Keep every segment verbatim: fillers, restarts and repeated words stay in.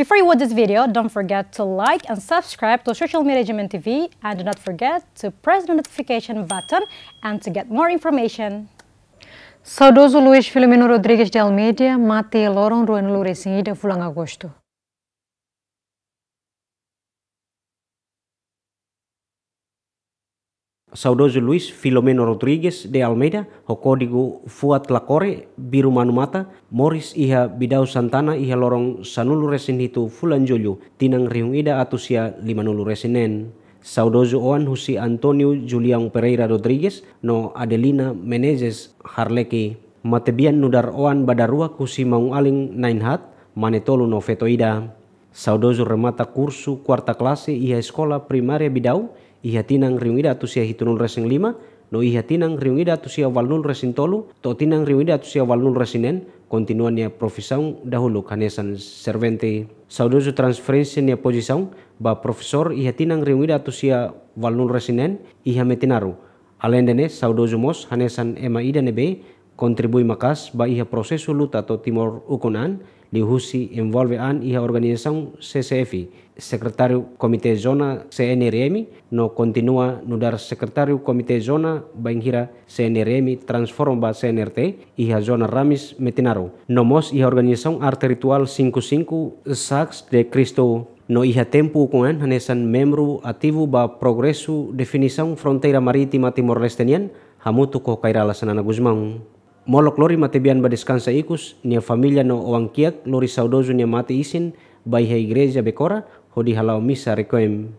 Before you watch this video, don't forget to like and subscribe to social media G M N T V, and do not forget to press the notification button and to get more information. Saudozu Luis Filomeno Rodrigues de Almeida mate loron ruanulu-resin-ida fulan Agostu. Saudozu Luis Filomeno Rodrigues de Almeida, ho kódigu Fuat Lakore, Biru Manu Mata, moris iha Bidau Santana iha loron sanulu-resin-hitu fulan Jullu, tinan rihun ida atus sia limanulu-resin-neen. Saudozu oan husi António Julião Pereira Rodrigues no Adelina Menezes Harleki. Matebian nu'udar oan ba daruak husi maun-alin na'in-haat, mane tolu no feto ida. Saudozu remata kursu kuarta klase iha Eskola Primária Bidau, iha tinan rihun ida atus sia hitunulu-resin-lima, no iha tinan rihun ida atus sia ualunulu-resin-tolu, to'o tinan rihun ida atus sia ualunulu-resin-neen, kontinua nia profisaun dahuluk hanesan servente. Saudozu transferénsia nia pozisaun ba profesór iha tinan rihun ida atus sia ualunulu-resin-neen, iha Metinaro. Aleinde ne'e, saudozu mós hanesan ema ida ne'ebé kontribui maka'as ba iha prosesu luta to'o Timor ukun an, liuhusi envolve an iha organizasaun C C F, sekretáriu Komité Zona C N R M, no kontinua nu'udar sekretáriu Komité Zona bainhira C N R M transforma ba C N R T iha Zona Ramis, Metinaro. No mós iha organizasaun Arte Ritual cinco cinco, Sagres de Cristo. No iha tempu ukun an hanesan membru ativu ba progresu definisaun fronteira marítima Timor-Leste nian, hamutuk ho Kay Rala Xanana Gusmão. Molok lori matebian bá deskansa ikus, nia família no oan-kiak lori saudozu nia mate isin ba iha Igreja Becora, hodi hala'o misa requiem.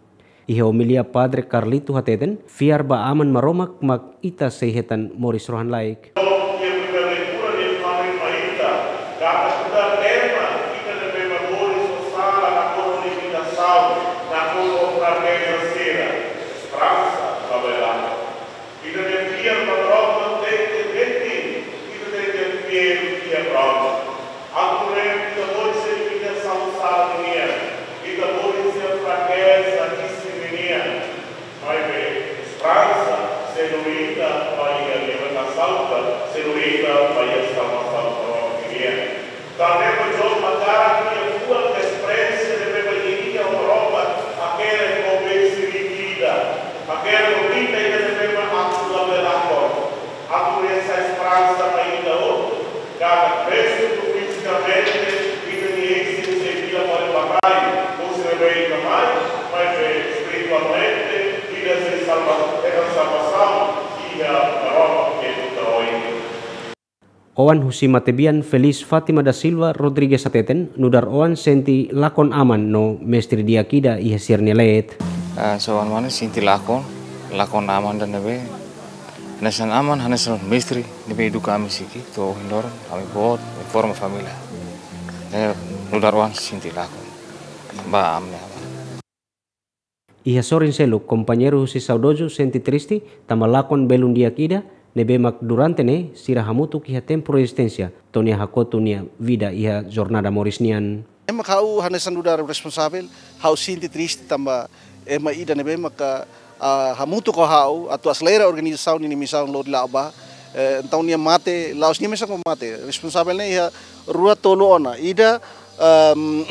Iha omilia Padre Carlito hateten, fiar ba Aman Maromak mak ita sei hetan moris rohan-laek. Iha primeira leitura nia fó hanoin mai ita, katak nu'udar ema, ita ne'ebé mak moris ho sala nakonu limitasaun, nakonu frakeza sira, esperansa labele lakon. Ita-nia fiar ba Maromak tenke metin, ita tenke fiar iha Maromak. Atu nune'e ita moris iha limitasaun sala ninian, ita moris iha frakeza isin ninian. Maibé esperansa sei lori ita ba iha libertasaun, sei lori ita ba iha salvasaun Maromak nian. Tanba ne'e João hakarak nia fuan esperiénsia ne'ebé mak iha nia ho Maromak, hakerek ho besi riki ida, hakerek ho vida ida ne'ebé mak atu labele lakon. Atu nune'e sai esperansa ba ita hotu, katak presu fizikamente ita-nia isin sei fila fali ba rai, husi ne'ebé ita mai, maibé espiritualmente ita sei salva, hetan salvasaun iha Maromak nia kuta oin. Oan husi matebian Feliz Fátima da Silva Rodrigues hateten, nu'udar oan sente lakon aman no mestre di'ak ida iha sira-nia leet. Ah, so, oan mane sente lakon, lakon aman ida ne'ebé hanesan aman, hanesan mestre ne'ebé eduka ami siki, to'o ohin loron, ami boot, ami forma família. Ne'e nu'udar oan sente lakon ba ami-nia aman. Iha sorin seluk, kompañeiru husi saudozu sente triste, tanba lakon belun di'ak ida, ne'ebé mak durante ne'e, sira hamutuk iha tempu rezisténsia, to'o nia hakotu nia vida iha jornada moris nian. Ema ha'u hanesan nu'udar responsavel, ha'u sente triste tanba ema ida ne'ebé maka, ah, hamutuk ho ha'u, atu aselera organizasaun ninia misaun lori la'o ba, eh, entaun nia mate, la'ós nia mesak mak mate, responsavel ne'e iha rua tolu ona, ida, ehm,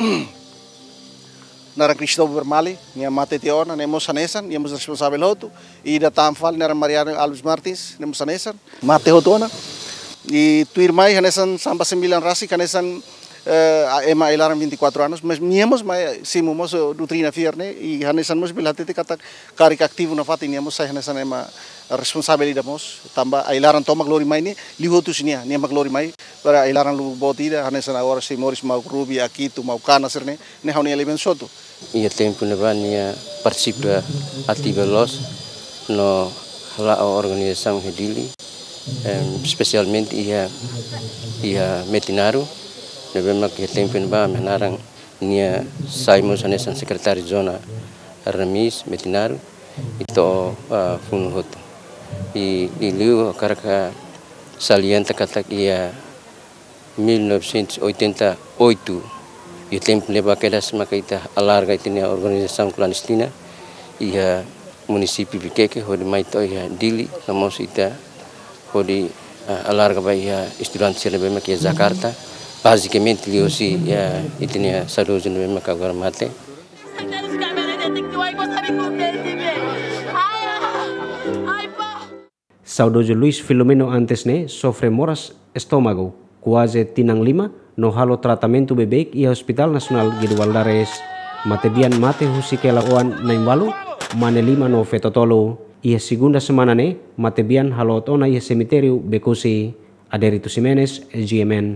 naran Cristóvão Bermali, nia mate tiha ona, nia mós hanesan, nia mós responsavel hotu. Ida tan fali naran Mariano Alves Martins, nia mós hanesan, mate hotu ona. I tuirmai hanesan samba sembilan rasik, hanesan, eh, a ema ai-laran vinte e quatro anos, mas nia mós mai simu mós, eh, doutrina fiar ne'e, i hanesan mós bele hatete katak karik ativu nafatin, nia mós sai hanesan ema responsavel ida mós, tanba ai-laran tomak lori mai ne'e, liu hotu husi nia, nia mak lori mai, para ai-laran lubuk boot ida, hanesan agora sei moris mauk rubi, akitu, mauk kana sira-ne'e, ne'e ha'u-nia elementu hotu. Iha tempu ne'ebá nia partisipa ativa loos no hala'o organizasaun iha Dili, em, espesialmente iha, iha Metinaro, ne'ebé mak iha tempu ne'ebá ami hanaran nia sai mós hanesan sekretáriu zona Ramis, Metinaro, i to'o, ah, funu hotu. I, i liu hakarak salienta katak iha mil novecentos e oitenta e oito, iha tempu ne'ebá kedas maka ita alarga ita-nia organizasaun klandestina iha munisípiu Viqueque, hodi mai to'o iha Dili, no mós ita hodi, ah, alarga ba iha estudante sira ne'ebé mak iha Jakarta, Basicamente liuhusi, ya, ita-nia saudozu ne'ebé maka agora mate. Saudozu Luis Filomeno antes ne'e sofre moras estómagu kuaze tinan lima no halo tratamentu beibeik iha Hospital Nasionál Guido Valadares. Matebian mate husik hela oan na'in-ualu, mane lima no feto tolu. Iha segunda semana ne'e, matebian halot ona iha semitériu Becusse. Adérito Ximenes, G M N.